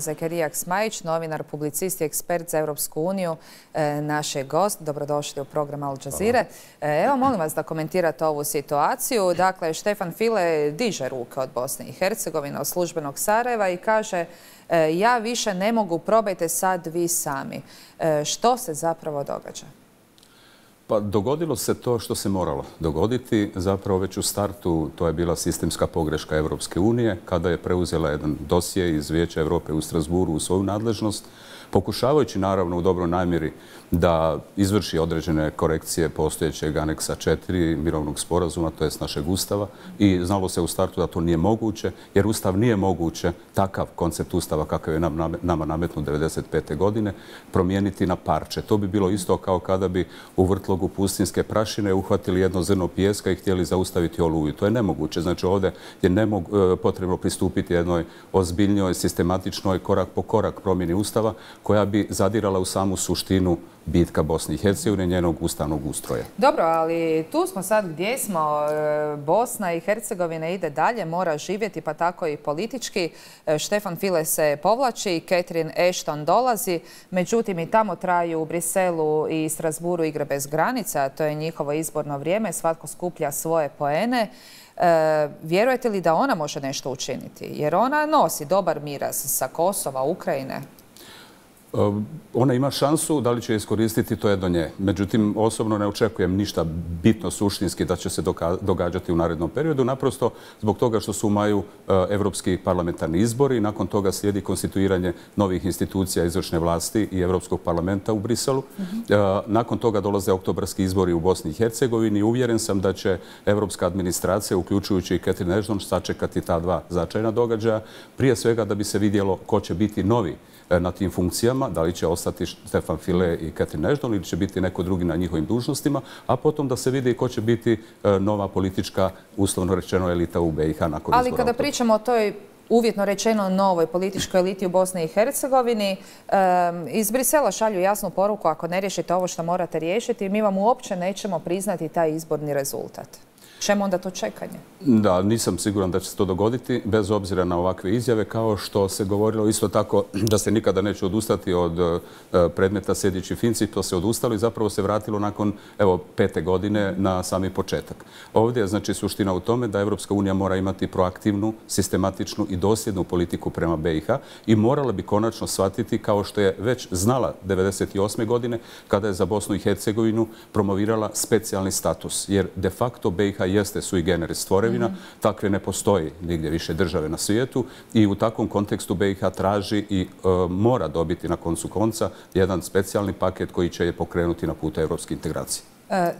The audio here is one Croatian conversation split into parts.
Zakirija Smajić, novinar, publicist i ekspert za Europsku uniju, naš je gost. Dobrodošli u program Al Jazeere. Evo, molim vas da komentirate ovu situaciju. Dakle, Štefan File diže ruke od Bosne i Hercegovine, od službenog Sarajeva i kaže ja više ne mogu, probajte sad vi sami. Što se zapravo događa? Pa dogodilo se to što se moralo dogoditi. Zapravo već u startu to je bila sistemska pogreška Europske unije kada je preuzela jedan dosje iz Vijeća Europe u Strasburu u svoju nadležnost, pokušavajući naravno u dobroj namjeri da izvrši određene korekcije postojećeg aneksa 4 mirovnog sporazuma, to jest našeg Ustava, i znalo se u startu da to nije moguće, jer Ustav nije moguće takav koncept Ustava kakav je nama nametnut 1995. godine promijeniti na parče. To bi bilo isto kao kada bi u vrtlogu pustinjske prašine uhvatili jedno zrno pijeska i htjeli zaustaviti oluju. To je nemoguće. Znači ovdje je potrebno pristupiti jednoj ozbiljnjoj, sistematičnoj, korak po korak promjeni Ustava koja bi zadirala u samu suštinu bitka Bosne i Hercegovine, njenog ustavnog ustroja. Dobro, ali tu smo sad gdje smo. Bosna i Hercegovina ide dalje, mora živjeti, pa tako i politički. Štefan File se povlači, Catherine Ashton dolazi, međutim i tamo traju u Briselu i Strasburu igre bez granica, to je njihovo izborno vrijeme, svatko skuplja svoje poene. Vjerujete li da ona može nešto učiniti? Jer ona nosi dobar miraz sa Kosova, Ukrajine. Ona ima šansu, da li će iskoristiti, to je do nje. Međutim, osobno ne očekujem ništa bitno suštinski da će se događati u narednom periodu, naprosto zbog toga što su u maju evropski parlamentarni izbori, nakon toga slijedi konstituiranje novih institucija izvršne vlasti i Evropskog parlamenta u Briselu. Nakon toga dolaze oktobarski izbori u Bosni i Hercegovini i uvjeren sam da će evropska administracija, uključujući i Catherine Ashton, sačekati ta dva značajna događaja, prije svega da bi se vidjelo ko će biti novi na tim funkcijama, da li će ostati Štefan File i Catherine Ashton ili će biti neko drugi na njihovim dužnostima, a potom da se vidi ko će biti nova politička, uslovno rečeno, elita u BiH nakon izbora. Ali kada pričamo o toj uvjetno rečeno novoj političkoj eliti u Bosni i Hercegovini, iz Brisela šalju jasnu poruku: ako ne riješite ovo što morate riješiti, mi vam uopće nećemo priznati taj izborni rezultat. Čemu onda to čekanje? Da, nisam siguran da će se to dogoditi, bez obzira na ovakve izjave, kao što se govorilo isto tako da se nikada neće odustati od predmeta Sejdić i Finci. To se odustalo i zapravo se vratilo nakon 5. godine na sami početak. Ovdje je znači suština u tome da Evropska unija mora imati proaktivnu, sistematičnu i dosljednu politiku prema BiH i morala bi konačno shvatiti, kao što je već znala 1998. godine kada je za Bosnu i Hercegovinu promovirala specijalni status, jer de facto BiH jeste sui generis tvorevina, takve ne postoji nigdje više države na svijetu i u takvom kontekstu BiH traži i mora dobiti na koncu konca jedan specijalni paket koji će je pokrenuti na putu evropske integracije.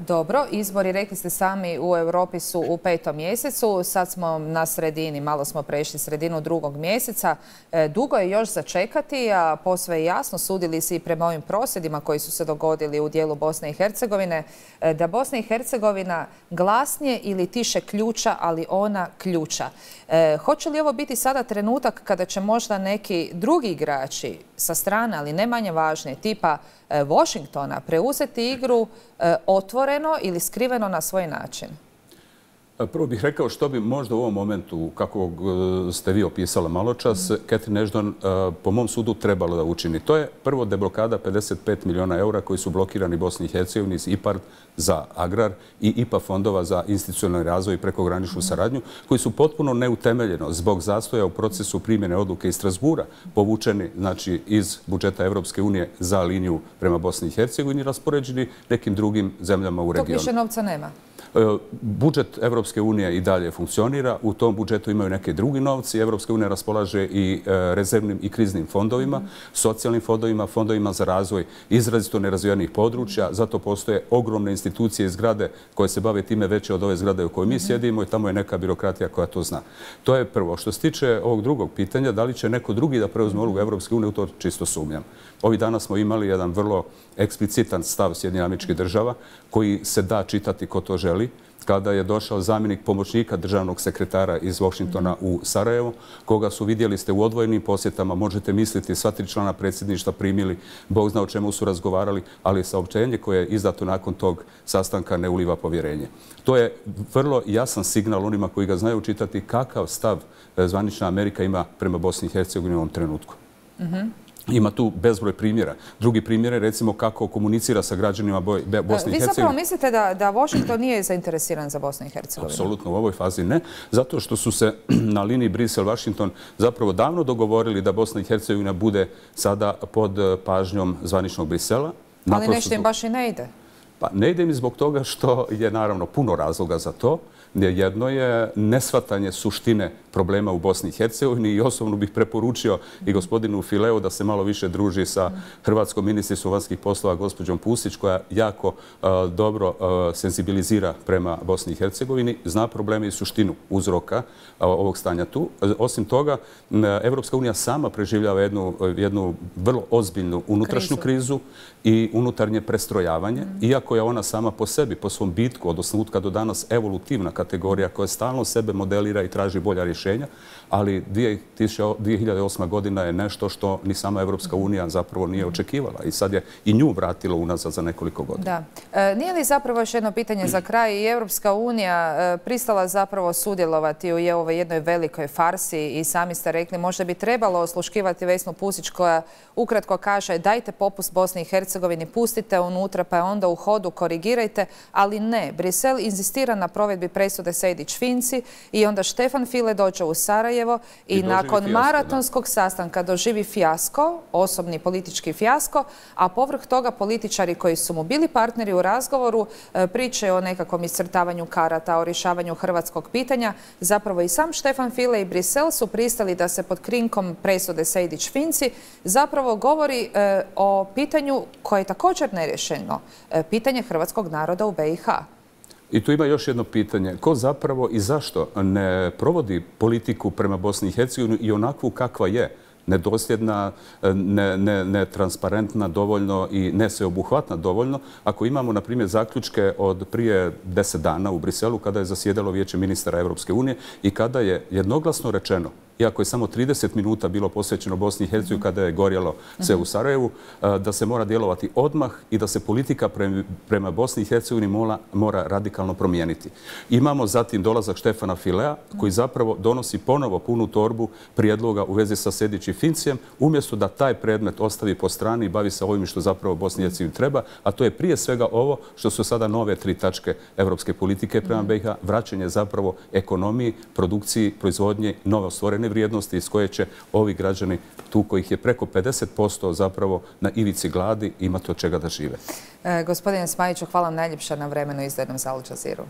Dobro, izbori, rekli ste sami, u Europi su u 5. mjesecu, sad smo na sredini, malo smo prešli sredinu 2. mjeseca. Dugo je još začekati, a posve je jasno, sudili se i prema ovim prosvjedima koji su se dogodili u dijelu Bosne i Hercegovine, da Bosna i Hercegovina glasnije ili tiše ključa, ali ona ključa. Hoće li ovo biti sada trenutak kada će možda neki drugi igrači sa strane, ali ne manje važni, tipa Washingtona, preuzeti igru otvoreno ili skriveno na svoj način? Prvo bih rekao što bi možda u ovom momentu, kako ste vi opisala maločas, Catherine Ashton po mom sudu trebala da učini. To je prvo deblokada 55 milijuna eura koji su blokirani Bosni i Hercegovini iz IPARD za agrar i IPA fondova za institucionalni razvoj i prekograničnu saradnju, koji su potpuno neutemeljeno zbog zastoja u procesu primjene odluke iz Strasbura povučeni znači iz budžeta Evropske unije za liniju prema Bosni i Hercegovini i raspoređeni nekim drugim zemljama u regionu. Tog više novca nema. Budžet Evropske unije i dalje funkcionira. U tom budžetu imaju neke drugi novci. Evropska unija raspolaže i rezervnim i kriznim fondovima, socijalnim fondovima, fondovima za razvoj izrazito nerazvijenih područja. Zato postoje ogromne institucije i zgrade koje se bave time veće od ove zgrade u kojoj mi sjedimo i tamo je neka birokratija koja to zna. To je prvo. Što se tiče ovog drugog pitanja, da li će neko drugi da preuzme ulogu Evropske unije, u to čisto sumnjam. Ovih dana smo imali jedan vrlo eksplicitan stav Sjedinjenih Američkih Država koji se da čitati ko to želi, kada je došao zamjenik pomoćnika državnog sekretara iz Washingtona u Sarajevo, koga su, vidjeli ste, u odvojenim posjetama, možete misliti, sva 3 člana predsjedništva primili, Bog zna o čemu su razgovarali, ali saopćenje koje je izdato nakon tog sastanka ne uliva povjerenje. To je vrlo jasan signal onima koji ga znaju čitati kakav stav zvanična Amerika ima prema Bosni i Hercegovini u ovom trenutku. Ima tu bezbroj primjera. Drugi primjer je recimo kako komunicira sa građanima Bosne i Hercegovine. Vi zapravo mislite da Washington nije zainteresiran za Bosnu i Hercegovinu? Apsolutno, u ovoj fazi ne. Zato što su se na liniji Brisel-Washington zapravo davno dogovorili da Bosna i Hercegovina bude sada pod pažnjom zvaničnog Brisela. Ali nešto im baš i ne ide. Pa ne ide mi zbog toga što je naravno puno razloga za to. Jedno je neshvatanje suštine problema u Bosni i Hercegovini i osobno bih preporučio i gospodinu Fileu da se malo više druži sa hrvatskom ministricom vanjskih poslova gospođom Pusić koja jako dobro senzibilizira prema Bosni i Hercegovini, zna probleme i suštinu uzroka ovog stanja tu. Osim toga, Evropska unija sama preživljava jednu vrlo ozbiljnu unutrašnju krizu i unutarnje prestrojavanje, iako je ona sama po sebi, po svom bitku od osnutka do danas evolutivna kategorija koja stalno sebe modelira i traži bolja rješenja, ali 2008. godina je nešto što ni sama Evropska unija zapravo nije očekivala i sad je i nju vratilo unazad za nekoliko godina. Da. Nije li zapravo još jedno pitanje za kraj i Evropska unija pristala zapravo sudjelovati u ovoj jednoj velikoj farsi i sami ste rekli možda bi trebalo osluškivati Vesnu Pusić koja ukratko kaže dajte popust Bosni i Hercegovini, pustite unutra pa onda u hodu korigirajte, ali ne. Brisel inzistira na provedbi presude Sejdić-Finci i onda Štefan File dođe u Sarajevo i nakon maratonskog sastanka doživi fijasko, osobni politički fijasko, a povrh toga političari koji su mu bili partneri u razgovoru pričaju o nekakvom iscrtavanju karata, o rješavanju hrvatskog pitanja. Zapravo i sam Štefan File i Brisel su pristali da se pod krinkom presude Sejdić-Finci zapravo govori o pitanju koje je također neriješeno, pitanje hrvatskog naroda u BiH. I tu ima još jedno pitanje. Ko zapravo i zašto ne provodi politiku prema Bosni i Hercegovini i onakvu kakva je? Nedosljedna, netransparentna dovoljno i nesveobuhvatna dovoljno. Ako imamo, na primjer, zaključke od prije 10 dana u Briselu kada je zasjedalo Vijeće ministara Evropske unije i kada je jednoglasno rečeno, iako je samo 30 minuta bilo posvećeno Bosni i Hercegovini kada je gorjelo sve u Sarajevu, da se mora djelovati odmah i da se politika prema Bosni i Hercegovini mora radikalno promijeniti. Imamo zatim dolazak Štefana Filea koji zapravo donosi ponovo punu torbu prijedloga u vezi sa Sejdić-Fincijem, umjesto da taj predmet ostavi po strani i bavi se ovim što zapravo Bosni i Hercegovini treba, a to je prije svega ovo što su sada nove 3 tačke evropske politike prema BiH, vraćanje zapravo ekonomiji, produkciji, proizvodnje, novo stvorene vrijednosti iz koje će ovi građani, tu kojih je preko 50% zapravo na ivici gladi, imati od čega da žive. Gospodine Smajiću, hvala vam najljepša na vremenu izdanom za Al Jazeeru.